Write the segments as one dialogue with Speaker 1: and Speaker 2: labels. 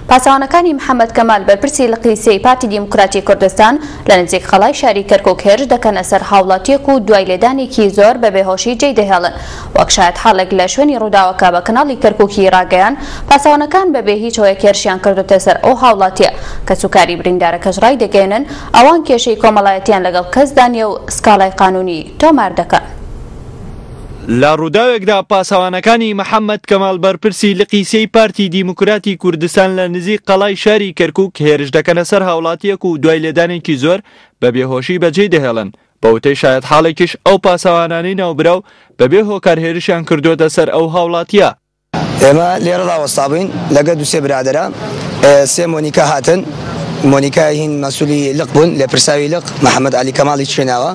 Speaker 1: پاسەوانەکانی محەمەد کەمال بەرپرسی لقی سێی پارتی دیموکراتی کوردستان لە نزیک قەڵای شاری کەرکوک هێرش دەکەنە سەر هاوڵاتیەک و دوای لێدانێکی زۆر بە بێهۆشی جێی دەهێڵن. وەک شایەتحاڵێک لە شوێنی ڕووداوەکە بە کەناڵی کەرکوکی ڕاگەیاند، پاسەوانەکان بەبێ هیچ هۆیەک هێرشیان کردۆتە سەر ئەو هاوڵاتیە، کەسوکاری بریندارەکەش ڕایدەگەیەنن ئەوان کێشەی کۆمەڵایەتیان لەگەڵ کەسدا نیە و سکاڵای قانونی تۆمار دەکەن.
Speaker 2: لە ڕووداوێکدا پاسەوانەکانی محەمەد کەمال بەرپرسی لقی سێی پارتی دیموکراتی کوردستان لە نزیک قەڵای شاری کەرکوک هێرش دەکەنە سەر هاوڵاتییەک و دوای لێدانێکی زۆر بە بێهۆشی بەجێی دەهێڵن، بە وتەی شایەتحاڵێکیش ئەو پاسەوانانەی ناوبراو بەبێ هۆکار هێرشیان کردووەتە سەر ئەو هاوڵاتییە.
Speaker 3: ئێمە لێرە ڕاوەستابووین لەگەر دوو سێ برادەرا، سێ مۆنیکا هاتن، مۆنیکای هین مەسولی لق بوون، لێپرساوی لق محەمەد عەلی کەماڵی چێناوە،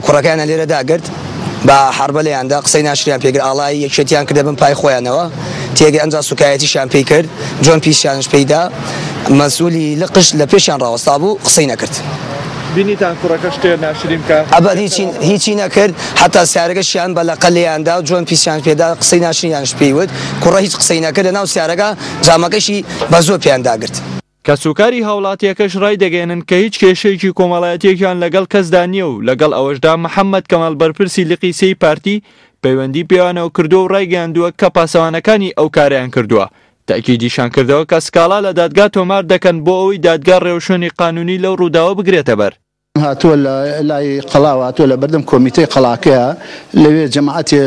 Speaker 3: کوڕەکەیانیان لێرە داگرت، بە حەڕبە لێیان دا، قسەی ناشریان پێ کرد، ئاڵای یەکێتیان کردە بن پای خۆیانەوە، تێگەی ئەمجا سوکایەتیشیان پێی کرد، جۆن پیسیانش پێی دا، مەسولی لقش لە پێشیان ڕاوەستابوو، قسەی نەکرد.
Speaker 2: بینیتان کوڕەکە شتێ ناشرین بکا؟
Speaker 3: ئەبەد هیچی هیچی نەکرد حەتا سیارەکەشیان بە لەقە لێیان دا جۆن پیسیان پێدا قسەی ناشرینیانش پێی وت کوڕە هیچ قسەی نەکرد لەناو سیارەکە جامەکەشی بە زۆر پێیان داگرت.
Speaker 2: کەسوکاری هاوڵاتیەکەش ڕایدەگەیەنن کە هیچ کێشەیەکی کۆمەڵایەتیەکیان لەگەڵ کەسدا نییە و لەگەڵ ئەوەشدا محەمەد کەمال بەرپرسی لقی سێی پارتی پەیوەندی پێیانەوە کردووە و ڕایگەیاندووە کە پاسەوانەکانی ئەو کارەیان کردووە تەئکیدیشان کردەوە کە سکاڵا لە دادگا تۆمار دەکەن بۆ ئەوەی دادگا ڕێوشوێنی قانونی لەو ڕووداوە بگرێتە بەر.
Speaker 4: هاتووە لە لای قەڵاوە هاتووە لە بەردەم کۆمیتەی قەڵاکەیە لەوێ جەماعەتێ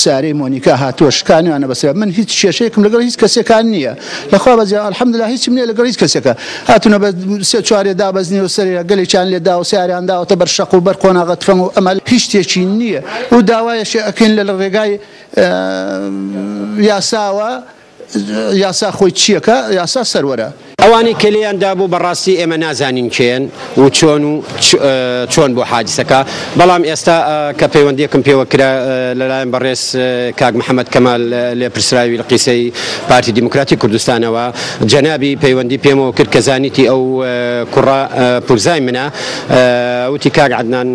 Speaker 4: سیارەی مۆنیکا هاتووە شکانویانە بەسەر من هیچ کێشەیەکم لەگەڵ هیچ کەسێکان نییە لەخوا بەزیا الحمدلله هیچم نییە لەگەڵ هیچ کەسێکە هاتوونە بە سێ چوارێ دابەزنیوە سەرێ گەلێکیان لێ داوە سیاریان داوەتە بەر شەق و بەر قۆناغە تفەنگ و ئەمە هیچ شتێکی نییە و داوایەشێ ئەکەین لە ڕێگای یاساوە یاسا خۆی چیەکە یاسا سەروەرە.
Speaker 5: ئەوانەی کە لێیان دابوو بەڕاستی ئێمە نازانین کێن و چۆن و چۆن بوو حادیسەکە، بەڵام ئێستا کە پەیوەندیەکم پێوە کرا لەلایەن بەڕێز کاک محەمەد کەمال لێپرسراوی لقی سێی پارتی دیموکراتی کوردستانەوە جەنابی پەیوەندی پێمەوە کرد کە زانیتی ئەو کوڕە پورزای منە وتی کاک عەدنان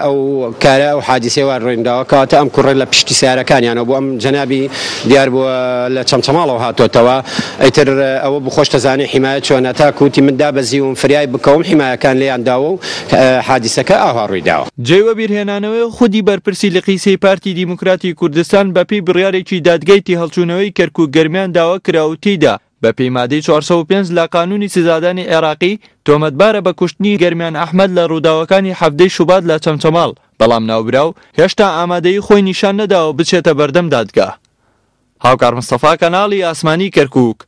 Speaker 5: ئەو کارە ئەو حادیسەیە وا ڕوویداوە کەواتە ئەم کوڕە لە پشتی سەیارەکانیانەوە بوو ئەم جەنابی دیار بووە لە چەمچەماڵەوە هاتۆتەوە ئیتر ئەوە بوو خۆش دەزانی حیمایە چۆنە تاکو وتی من دابەزیوم فریای بکەوم حیمایەکان لێیان داوە و حادیسەکە ئاوا ڕوویداوە.
Speaker 2: جێی وەبیرهێنانەوەیە خودی بەرپرسی لقی سێی پارتی دیموکراتی کوردستان بەپێی بڕیارێکی دادگای تێهەڵچوونەوەی کەرکوک گەرمیان داوا کرا و تێیدا بەپێی مادەی 405 لە قانوونی سزادانی عێراقی، تۆمەتبارە بە کوشتنی گەرمیان ئەحمەد لە رووداوەکانی حەڤدەی شوبات لە چەمچەماڵ، بەڵام ناوبراو هێشتا ئامادەیی خۆی نیشان نەداوە بچێتە بەردەم دادگا. هاوکار مستەفا، کەناڵی ئاسمانی کەرکووک.